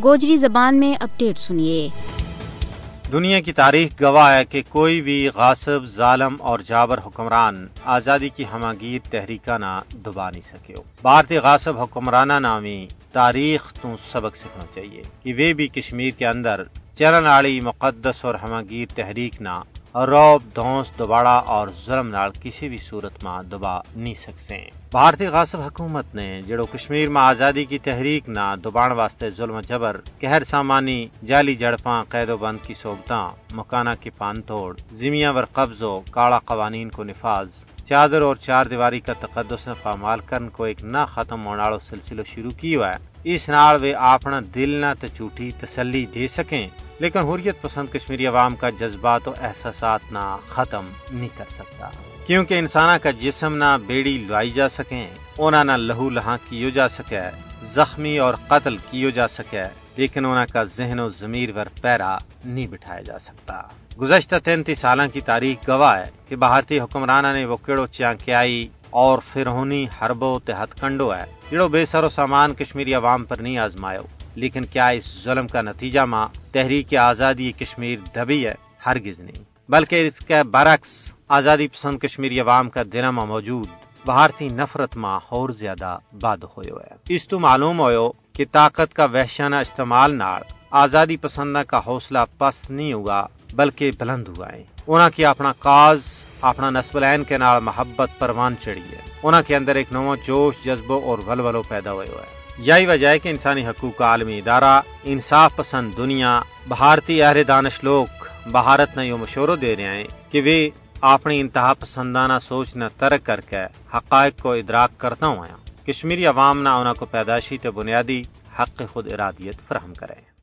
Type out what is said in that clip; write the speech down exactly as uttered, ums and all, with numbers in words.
گوجری زبان میں اپڈیٹ سنیے۔ دنیا کی تاریخ گواہ ہے کہ کوئی بھی غاصب، ظالم اور جابر حکمران آزادی کی ہماگیر تحریکاں نا دبا نہیں سکیو۔ بھارتی غاصب حکمراناں نا وی تاریخ تو سبق سکھنو چاہیے کہ ویہ بھی کشمیر کے اندر چلن آلی مقدس اور ہماگیر تحریک نا رعب، دھونس، دباڑا اور ظلم نال کسی بھی صورت ما دبا نہیں سکسیں۔ بھارتی غاصب حکومت نے جڑو کشمیر ما آزادی کی تحریک نا دبان واسطے ظلم و جبر، قہر سامانی، جعلی جھڑپاں، قید و بند کی صحبتاں، مکاناں کی پان توڑ، زمیاں ور قبض و کاڑا قوانین کو نفاذ، چادر اور چار دیواری کا تقدس نا پامال کرن کو ایک نہ ختم ہوناڑو سلسلو شروع کیو ہے۔ اس نال ویہ آپنا دل نا تے جھوٹی تسلی دے سکیں، لیکن حریت پسند کشمیری عوام کا جذبات و احساسات نا ختم نہیں کر سکتا۔ کیونکہ انساناں کا جسم نا بیڑی لوائی جا سکیں، انہاں نا لہو لہاں کیو جا سکے، زخمی اور قتل کیو جا سکے، لیکن انہاں کا ذہن و ضمیر ور پیرا نہیں بٹھایا جا سکتا۔ گزشتہ تینتی سالاں کی تاریخ گواہ ہے کہ بھارتی حکمراناں نے وہ کیڑو چانکیائی اور فرعونی حربو تے ہتھ کنڈو ہے، جڑو بے سر و سامان کشمیری عوام پر نہیں آزمایو۔ لیکن کیا اس ظلم کا نتیجہ ما تحریک آزادی کشمیر دبی ہے؟ ہرگز نہیں، بلکہ اس کے برعکس آزادی پسند کشمیری عوام کا دلاں ما موجود بھارتی نفرت ما ہور زیادہ بد ہویو ہے۔ اس تو معلوم ہویو کہ طاقت کا وحشانہ استعمال نال آزادی پسنداں کا حوصلہ پست نہیں ہوا، بلکہ بلند ہوا ہے۔ انہاں کی اپنا کاز، اپنا نسب العین کے نال محبت پروان چڑھی ہے۔ انہاں کے اندر ایک نواں جوش، جذبو اور ولولو پیدا ہویو ہے۔ یہی وجہ ہے کہ انسانی حقوق کا عالمی ادارہ، انصاف پسند دنیا، بھارتی اہل دانش لوگ بھارت نا یوہ مشورو دے رہیا ہیں کہ ویہ اپنی انتہا پسندانہ سوچ نا ترک کر کے حقائق کو ادراک کرتا ہویا کشمیری عوام نا انہاں کو پیدائشی تے بنیادی حق خود ارادیت فراہم کرے۔